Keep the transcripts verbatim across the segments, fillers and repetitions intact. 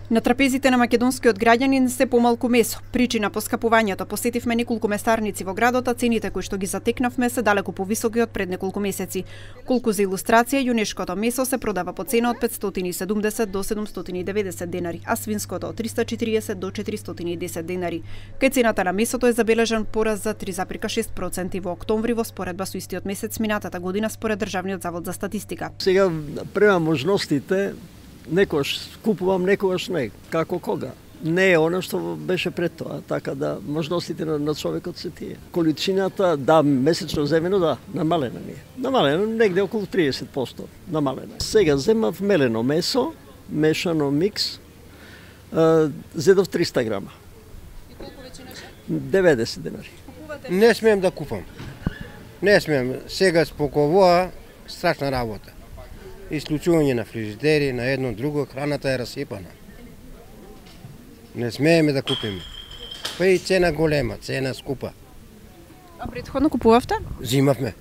На трапезите на македонскиот граѓанин се помалку месо. Причина по скапувањето посетивме неколку месарници во градот, а цените кои што ги затекнавме се далеку повисоки од пред неколку месеци. Колку за илустрација, јунешкото месо се продава по цена од петстотини и седумдесет до седумстотини и деведесет денари, а свинското од триста и четириесет до четиристотини и десет денари. Кај цената на месото е забележан пораз за три зарез и шест проценти во октомври во споредба со истиот месец минатата година според Државниот завод за статистика. Сега према можностите, некојаш купувам, некојаш не, како кога. Не е она што беше пред тоа, така да можностите на, на човекот се тие. Количината, да, месечно земено, да, намалена ми е. Намалена, негде околу триесет проценти намалена. Сега земав мелено месо, мешано микс, а, зедов триста грама. И колку веќе неше? деветдесет денари. Не смеем да купам. Не смеем. Сега споковоа, страшна работа. Исклучување на фрижидери, на едно друго, храната е расипана. Не смееме да купиме. Па и цена голема, цена скупа. А претходно купувавте? Зимавме.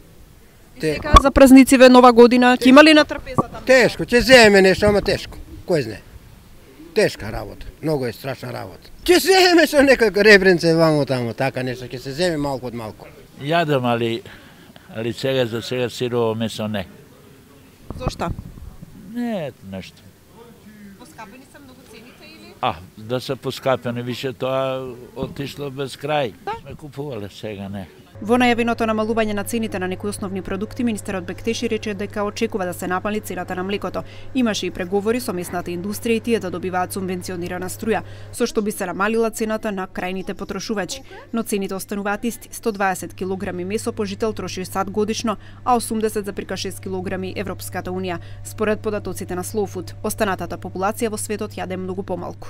И сега за празнициве, нова година, ќе има ли на трапезата? Тешко, ќе земеме нешто, ама тешко. Кој знае? Тешка работа, многу е страшна работа. Ќе земеме со некако ребренце вамо тамо, така нешто, ќе се земе малку од малку. Јадам, али, али сега за сега сирово месо не. Зошто? Не е нешто. Поскапени се многу цените или? А, да се поскапени, више тоа отишло без крај. Сме купувале, сега не. Во најавеното намалување на цените на некои основни продукти, министерот Бектеши рече дека очекува да се напали цената на млекото. Имаше и преговори со местната индустрија и тие да добиваат субвенционирана струја, со што би се намалила цената на крајните потрошувачи. Но цените остануваат исти. сто дваесет килограми месо по жител троши САД годишно, а осумдесет зарез шест килограми Европската унија. Според податоците на Slow Food, останатата популација во светот јаде многу помалку.